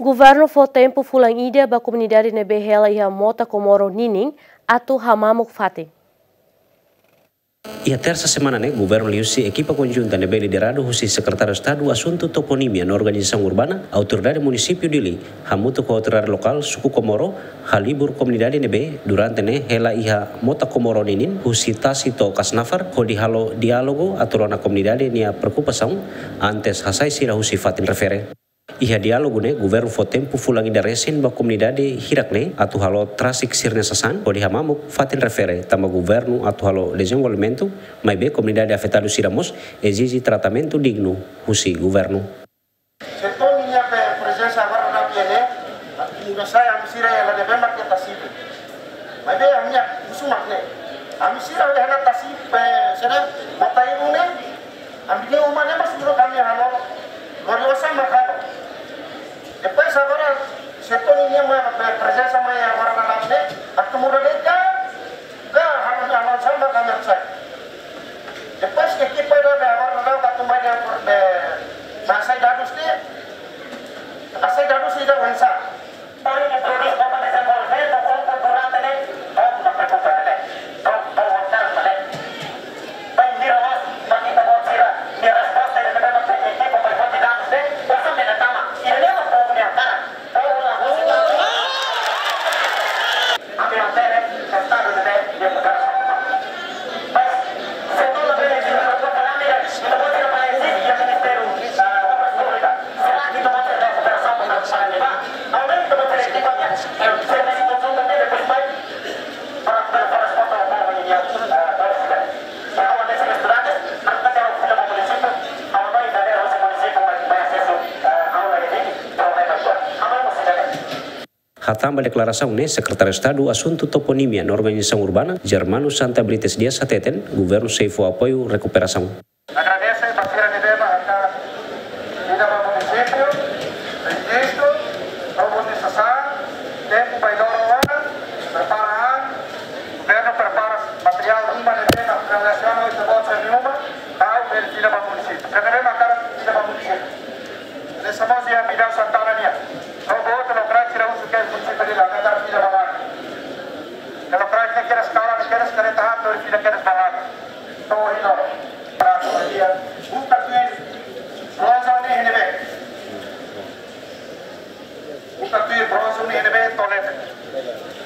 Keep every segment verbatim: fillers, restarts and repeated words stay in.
Governu fó tempu fulan ida ba komunidade ne'ebé hela iha Mota Comoro ninin atu hamamuk fatin. Iha tersa semana ne'e, governu liuhusi ekipa konjunta ne'ebé lideradu husi Sekretáriu Estadu Asuntu Toponímia no Organizasaun Urbana, Autoridade Munisípiu Dili, hamutuk ho autoridade lokál suku Comoro, halibur komunidade ne'ebé durante ne'e hela iha Mota Comoro ninin, husi tasi to'o Kasnafar, hodi halo diálogu atu rona komunidade nia preokupasaun antes hasai sira husi fatin refere. Iha diálogu ne'e, governu fó tempu fulan ida resin ba komunidade hirak ne'e atu halo trasik sira-nia sasán hodi hamamuk fatin refere, tanba governu atu halo dezenvolvimentu, maibé komunidade afetadu sira mós ezije tratamentu dignu husi governu. Setór ninia pe prezensa agora na P N E, atu muda sai ami sira hela ne'ebé mak iha tasi. Maibé ami-nia husu mak ne'e. Ami sira hela tasi pe sira mota ibu ne'e. Ami-nia uma ne'e mós menurut ami halo. Gloriosa mak halo. Depois agora setór ninia mak pe prezensa mai agora na P N E, atu muda de'it ka, ka halo na halo samba ka mak sai. Depois ekipa ida be agora na atu mai de, de, na hasai dadus ne'e. Hasai dadus ida oinsá. Para que produz para desenvolvimento, como durante ne'e, como na preocupa ne'e, como, como voltar ne'e. Bai mira mas, mak ita-boot sira, nia resposta ida ne'ebé mak ekipa bai foti dadus ne'e, usa mena tama, ida-ne'e mak povu nia hakarak. Ami hakarak estadu ne'e, nia hakarak. Mas, se tu la bele, se tu la bele, ita-boot sira bai ezije iha Ministériu, ah, Obras Públikas. Será que ita-boot sira atu operasaun para, para levar? Aumenta ita-boot sira ekipa, eh, servisu konjuntu ne'e depois bai para, para, para resposta ao povo ninia, eh, para sira. Para o desse estudante, para que tenha o filho para o município, ao pai da lei, o município vai, vai acesso, eh, ao N G D, problema sua. Amanhã você já vê. Hatán ba deklarasaun ne'e, Sekretáriu Estadu Asuntu Toponímia no Organizasaun Urbana, Germano Santa Brites Dias hateten, governu sei fó apoiu rekuperasaun. Agradese ba sira ne'ebé mak hakarak ida ba munisípiu, rejistu, robotizasá, tempu bai loro ona, prepara an, governu prepara materiál ruma ne'ebé mak relasiona ho ita-boot sira-nia uma, tau bele fila ba munisípiu. Sira ne'ebé mak hakarak ida ba munisípiu. Hanesan mós iha Bidau Santana nian. To'o boot lokraik sira husu ke munisípiu Dili hakarak fila ba laran. Lokraik ne'e kedas kalan, kedas kareta api, fila kedas ba laran. To'o ohin loron. Para dia buka tuir bronze ne'e iha ne'ebé. Buka tuir bronze ne'e iha ne'ebé to'o leten.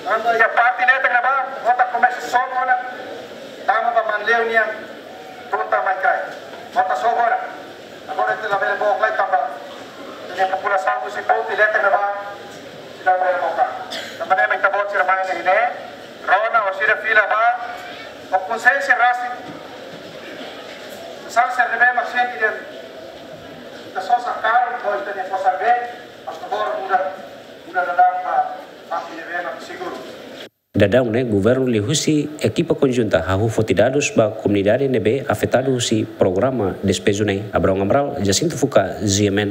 Ando iha parte leten ne'ebá, mota komesa sobu ona. Tama ba Manleu nian, tunta mai kai. Mota sobu ona. Agora ita labele book lai tanba ita-nia populasaun husi Pouti leten ne'ebá, sira bele book. Tanba ne'e mak ita-boot sira mai iha ne'e, rona ho sira fila ba, ho konsiénsia rasik. Sasán sira ne'ebé mak sente dehan ita sosa karu, ho ita-nia kosar be, por favór, muda, muda daudaun ba, ba parte ne'ebé mak seguru. Daudaun ne'e, governu liuhusi ekipa konjunta hahú foti dadus ba komunidade ne'ebé afetadu husi programa despeju ne'e. Abrão Amaral, Jacinto Fuca, G M N.